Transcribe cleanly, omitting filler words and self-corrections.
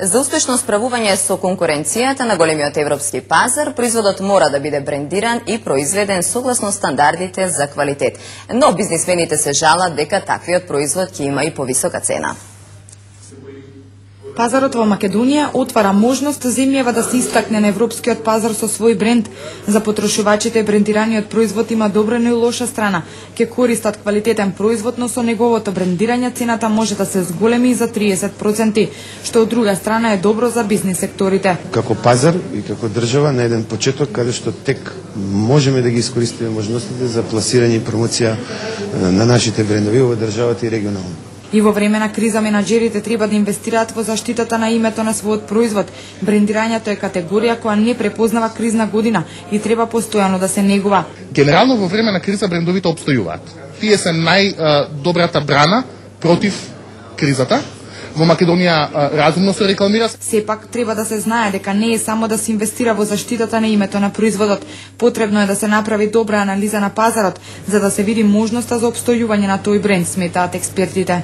За успешно справување со конкуренцијата на големиот европски пазар, производот мора да биде брендиран и произведен согласно стандардите за квалитет. Но бизнисмените се жалат дека таквиот производ ќе има и повисока цена. Пазарот во Македонија отвара можност земјава да се истакне на европскиот пазар со свој бренд. За потрошувачите брендираниот производ има добра, но и лоша страна. Ќе користат квалитетен производ, но со неговото брендирање цената може да се зголеми за 30%, што од друга страна е добро за бизнис секторите. Како пазар и како држава на еден почеток каде што тек можеме да ги искористиме можностите за пласирање и промоција на нашите брендови во државата и регионално. И во време на криза менаџерите треба да инвестираат во заштитата на името на својот производ. Брендирањето е категорија која не препознава кризна година и треба постојано да се негува. Генерално во време на криза брендовите опстојуваат. Тие се најдобрата брана против кризата. Во Македонија разумно се рекламира. Сепак треба да се знае дека не е само да се инвестира во заштитата на името на производот. Потребно е да се направи добра анализа на пазарот за да се види можноста за опстојување на тој бренд, сметаат експертите.